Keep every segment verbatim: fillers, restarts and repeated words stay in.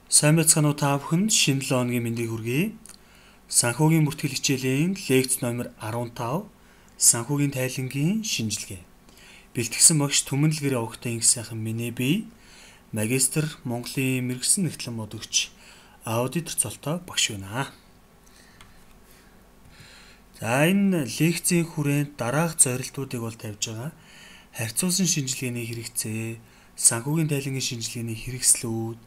Сайн байцгаана уу та бүхэнд шинэ лооны мэндийг хүргэе. Санхүүгийн бүртгэл хичээлийн лекц номер арван тав санхүүгийн тайлангийн шинжилгээ. Бэлтгэсэн багш Түмэнлэгэр Овогтой инх сайхан миний бие магистр Монголын мэргэжсэн нэгтлэн мод өгч аудитор цолтой багш байна. За энэ лекцийн хүрээнд дараах зорилтуудыг бол тавьж байгаа. Харьцуулсан шинжилгээний хэрэгцээ, санхүүгийн тайлангийн шинжилгээний хэрэгслүүд,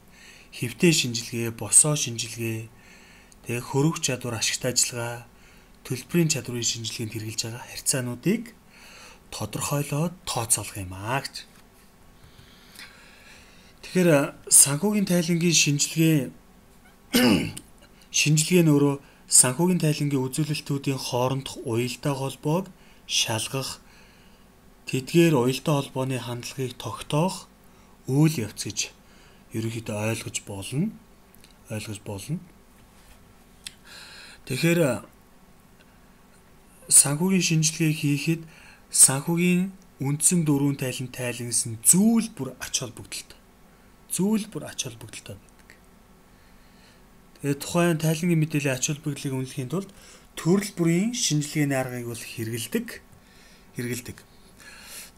хэвтэй шинжилгээ, босоо шинжилгээ, тэгээ хөрвөх чадвар, ашигт ажиллагаа, төлбөрийн чадварын шинжилгээнд хэрэгжилж байгаа харьцаануудыг тодорхойлоод тооцоолох юм аа гэж. Тэгэхээр санхүүгийн тайлангийн шинжилгээ шинжилгээ нь өөрөө санхүүгийн тайлангийн үзүүлэлтүүдийн хоорондох уялдаа холбоог шалгах, тэдгээр уялдаа холбооны хандлагыг тогтоох үйл явц гэж ерөнхийдөө ойлгож болно. Ойлгож болно. Тэгэхээр санхүүгийн шинжилгээ хийхэд санхүүгийн үндсэн дөрвөн тайлан тайлгнасан зүйл бүр ач холбогдолтой. Зүйл бүр ач холбогдолтой байдаг. Тэгээд тухайн тайлангийн мэдээллийн ач холбогдлыг үнэлэхийн тулд төрөл бүрийн шинжилгээний аргыг бол хэрэгэлдэг. Хэрэгэлдэг.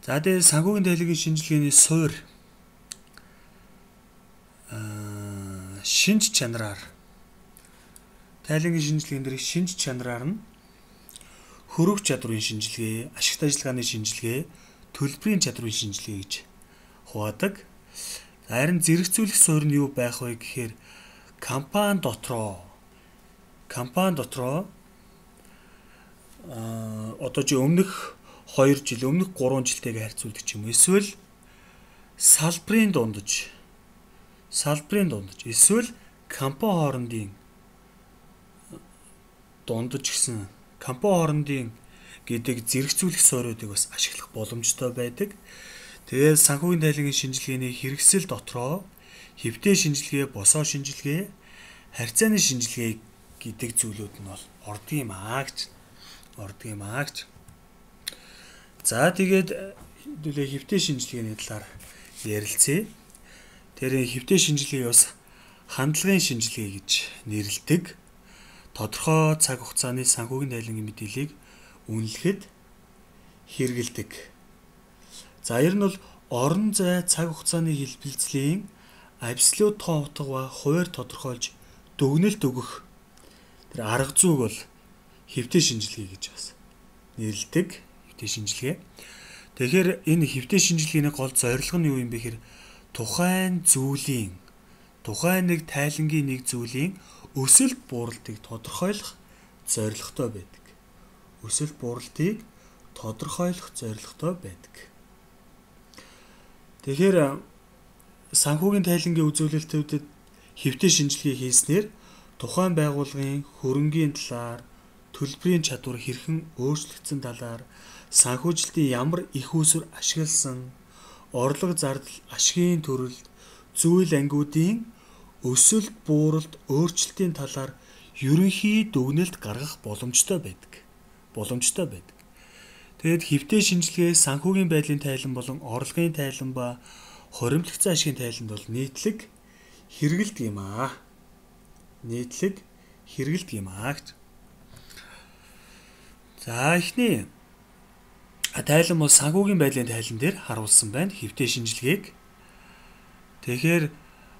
За тэгээд санхүүгийн тайлангийн шинжилгээний суурь шинж чанараар тайлангийн шинжилгээнд дэрх шинж чанараар нь хөрвөх чадрын шинжилгээ, ашигт ажиллагааны шинжилгээ, төлбөрийн чадрын шинжилгээ гэж хуваадаг. Харин зэрэгцүүлэх суурь нь юу байх вэ гэхээр компани дотроо компани дотроо а одоо чи өмнөх хоёр жил, өмнөх гурван жилтэйгээ харьцуулдаг ч юм уу. Эсвэл салбарын дундаж салбарын дундаж эсвэл компани хоорондын дундаж гэсэн компани хоорондын гэдэг зэрэгцүүлэх суурьуудыг бас ашиглах боломжтой байдаг. Тэгээд санхүүгийн тайлангийн шинжилгээний хэрэгсэл дотроо хэвтэй шинжилгээ, босоо шинжилгээ, харьцааны шинжилгээ гэдэг зүйлүүд нь бол ордог юм аа гэж. Ордог юм аа гэж. За тэгээд хэдүүлээ хэвтэй шинжилгээний талаар ярилцъя. Тэр хэвтэй шинжилгээ бас хандлагын шинжилгээ гэж нэрлэдэг. Тодорхой цаг хугацааны санхүүгийн тайлангийн мэдээллийг үнэлэхэд хэрэгэлдэг. За ер нь бол орон зай цаг хугацааны хэлбэлцлийн абсолют тоо утга ба хуваар тодорхойлж дүгнэлт өгөх тэр арга зүйг бол хэвтэй шинжилгээ гэж бас нэрлэдэг. Хэвтэй шинжилгээ. Тэгэхээр энэ хэвтэй шинжилгээний гол зорилго нь юу юм бэ гэхээр тухайн зүйлийн тухайн нэг тайлангийн нэг зүйлийн өсөлт бууралтыг тодорхойлох зорилготой байдаг. Өсөлт бууралтыг тодорхойлох зорилготой байдаг. Тэгэхээр санхүүгийн тайлангийн үзүүлэлтүүдэд хэвтэй шинжилгээ хийснээр тухайн байгууллагын хөрөнгийн талаар, төлбөрийн чадвар хэрхэн өөрчлөгдсөн талаар, санхүүжилтийн ямар их үүсвэр ашигласан, орлого зардал, ашигын төрөлд, зүйл ангиудын өсөлт бууралт өөрчлөлтийн талаар ерөнхий дүгнэлт гаргах боломжтой байдаг. Боломжтой байдаг. Тэгэд хэвтэй шинжилгээ санхүүгийн байдлын тайлан болон орлогын тайлан ба хоримтлогцсон ашигын тайланд бол нийтлэг хэрэгэлдэг юм аа. Нийтлэг хэрэгэлдэг юм аа гэж. За эхний тайлан бол санхүүгийн байдлын тайлан дээр харуулсан байна. Хэвтэй шинжилгээг. Тэгэхээр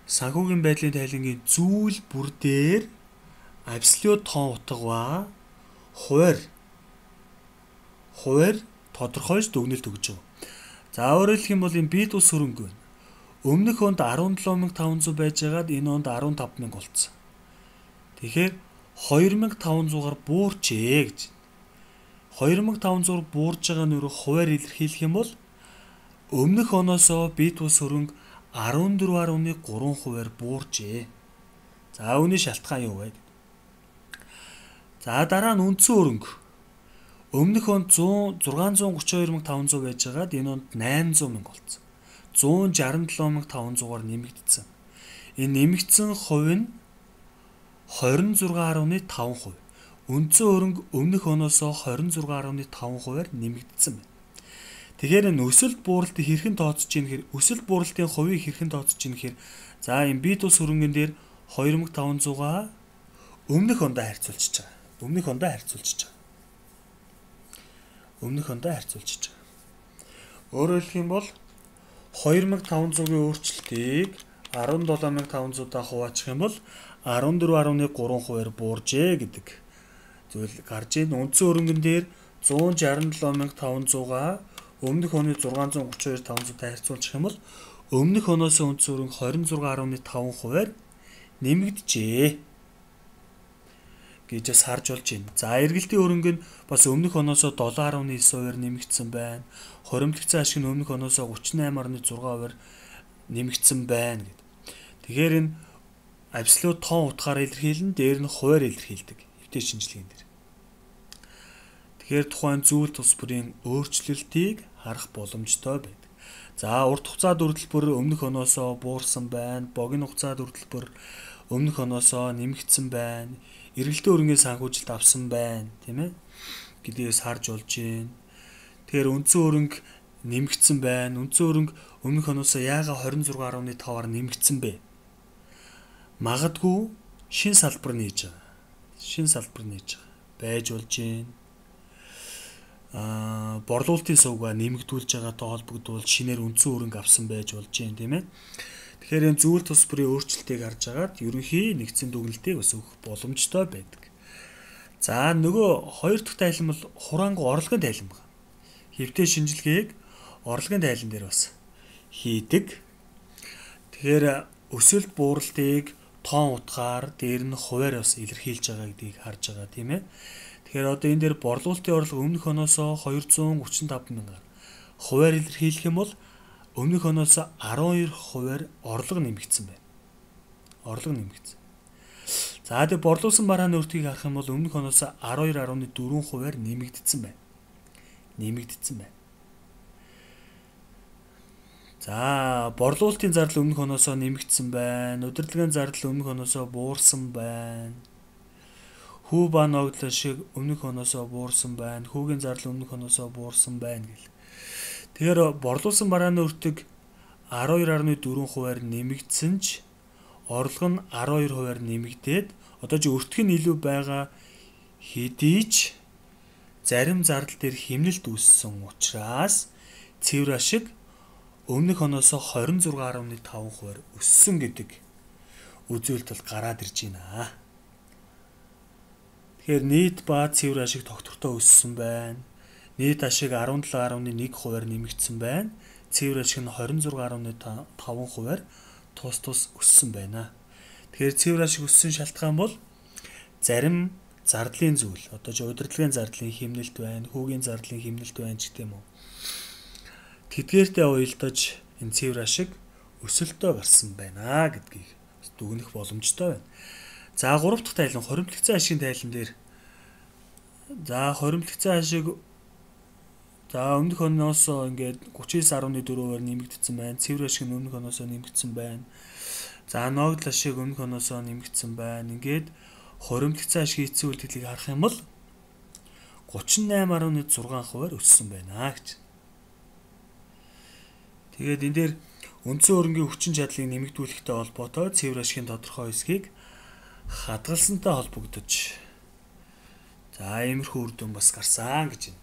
санхүүгийн байдлын тайлангийн зүйл бүр дээр абсолют тоо утга ба хуваар хуваар тодорхойлж дүгнэлт өгч байгаа. За өөрөөр хэлэх юм бол энэ бие тус хөрөнгө байна. Өмнөх онд арван долоо мянга таван зуун байжгаад энэ онд арван тав мянга болцсон. Тэгэхээр хоёр мянга таван зуугаар буурчээ гэж. хоёр мянга таван зуугаар буурж байгаа нь өөрөө хуваар илэрхийлэх юм бол өмнөх оноосоо бие тус хөрөнгө арван дөрвөн гаруй гурван хувиар буурчээ. За үүний шалтгаан юу вэ? За дараа нь үндсэн хөрөнгө. Өмнөх онд зугаас зургаан гурван хоёр мянга таван зуун байжгаад энэ онд найман зуун мянга болцсон. зуун жарган долоо мянга таван зуугаар нэмэгдсэн. Энэ нэмэгдсэн хувь нь хорин зургаан гаруй таван хувь. Үндсэн хөрөнгө өмнөх оноосоо хорин зургаан гаруй таван хувиар нэмэгдсэн байна. Тэгэхээр энэ өсөлт бууралтыг хэрхэн тооцож ийн гэхээр өсөлт бууралтын хувийг хэрхэн тооцож ийн гэхээр за энэ бие тус хөрөнгөн дээр хоёр мянга таван зуугаа өмнөх ондоо харьцуулчихж байгаа. Өмнөх ондоо харьцуулчихж байгаа. Өмнөх ондоо харьцуулчихж байгаа. Өөрөөр хэлэх юм бол хоёр мянга таван зуугийн өөрчлөлтийг арван долоо мянга таван зуудаа хуваачих юм бол арван дөрөв гаруй гурван хувиар бууржээ гэдэг зүйл гарч ийн. Үндсэн хөрөнгөн дээр зуун шестдесет долоо мянга таван зуугаа өмнөх оны зургаан зуун гурван хоёр таван зуутай харьцуулчих юм бол өмнөх оноос үндсэн хөрөнгө двадцать шесть гаруй таван хувиар нэмэгдэжээ гэж бас харж болж байна. За эргэлтийн хөрөнгө нь бас өмнөх оноос семь гаруй девять хувиар нэмэгдсэн байна. Хоримтлогцсон ашиг нь өмнөх оноос тридцать восемь гаруй шесть хувиар нэмэгдсэн байна гэдэг. Тэгэхээр энэ абсолют тоон утгаараа илэрхийлэн, дээр нь хувиар илэрхийлдэг. Хэвтээ шинжилгээнд дэр. Тэгэхээр тухайн зүйл тус бүрийн өөрчлөлтийг харах боломжтой байдаг. За урт хугацаа дүрдлэлбэр өмнөх оноосоо буурсан байна. Богино хугацаа дүрдлэлбэр өмнөх оноосоо нэмэгдсэн байна. Эргэлтийн хөрөнгөний санхүүжилт авсан байна, тийм ээ? Гэдгээс харж болж байна. Тэгэхээр үндсэн хөрөнгө нэмэгдсэн байна. Үндсэн хөрөнгө өмнөх оноосоо яагаад двадцать шесть гаруй пять-аар нэмэгдсэн бэ? Магадгүй шин салбар нээж байгаа. Шин салбар нээж байгаа. Байж болж байна. Аа, борлуулалтын сувгаа нэмэгдүүлж байгаатай холбогдуулж шинээр үндсэн хөрөнгө авсан байж болж байна, тийм ээ. Тэгэхээр энэ зүйл тус бүрийн өөрчлөлтийг харж агаад ерөнхий нэгдсэн дүгнэлтийг бас өгөх боломжтой байдаг. За нөгөө хоёр дахь тайлан бол хураангу орлогын тайлан байна. Хэвтээ шинжилгээг орлогын тайлан дээр бас хийдэг. Тэгэхээр өсөлт бууралтыг тоон утгаар дээр нь хувиар бас илэрхийлж байгаа гэдгийг харж байгаа, тийм ээ. Тэгэхээр одоо энэ дээр борлуулалтын орлого өмнөх оноосоо двести тридцать пять мянгаар хувиар илэрхийлэх юм бол өмнөх оноос12 хувиар орлого нэмэгдсэн байна. Орлого нэмэгдсэн. За тэгээ борлуулсан барааны өртгийг харах юм бол өмнөх оноос twelve гаруй four хувиар нэмэгдсэн байна. Нэмэгдсэн байна. За борлуулалтын зардал өмнөх оноос нэмэгдсэн байна. Удирдлагын зардал өмнөх оноос буурсан байна. Хүү ба ногдлол шиг өмнөх оноос буурсан байна. Хүүгийн зардал өмнөх оноос буурсан байна гэл. Тэгэхээр борлуулсан барааны өртөг twelve гаруй four хувиар нэмэгдсэн ч орлого нь twelve хувиар нэмэгдээд одоо ч өртөг нь илүү байгаа хэдий ч зарим зардал дээр хэмнэлт үүссэн учраас цэвэр ашиг өмнөх оноос twenty six гаруй five хувиар өссөн гэдэг үзүүлэлт бол гараад ирж байна. Тэгэхээр нийт ба цэвэр ашиг тогтвортой өссөн байна. Нийт ашиг seventeen гаруй one хувиар нэмэгдсэн байна. Цэвэр ашиг нь twenty six гаруй five хувиар тус тус өссөн байна. Тэгэхээр цэвэр ашиг өссөн шалтгаан бол зарим зардлын зүйл. Одоо ч удирдлагын зардлын хэмнэлт байна, хүүгийн зардлын хэмнэлт байна ч гэдэм үү. Тэдгээртэй уялдаж энэ цэвэр ашиг өсөлтөө гарсан байна гэдгийг дүгнэх боломжтой байна. За гурав дахь тайлан хоримтлогцсон ашигын тайлан дээр за хоримтлогцсон ашиг за өмнөх оноос ингээд thirty-nine гаруй four хувиар нэмэгдсэн байна. Цэвэр ашиг нь өмнөх оноос нэмэгдсэн байна. За ногдол ашиг өмнөх оноос нэмэгдсэн байна. Ингээд хоримтлогцсон ашигын эцсийн үйлдэлийг харах юм бол thirty-eight гаруй six хувиар өссөн байна гэж. Тэгээд энэ дээр үндсэн хөрөнгийн хүчин чадлыг нэмэгдүүлэхтэй холбоотой цэвэр ашигын тодорхой хэсгийг хадгалсантай холбогдож за иймэрхүү үр дүн бас гарсан гэж байна.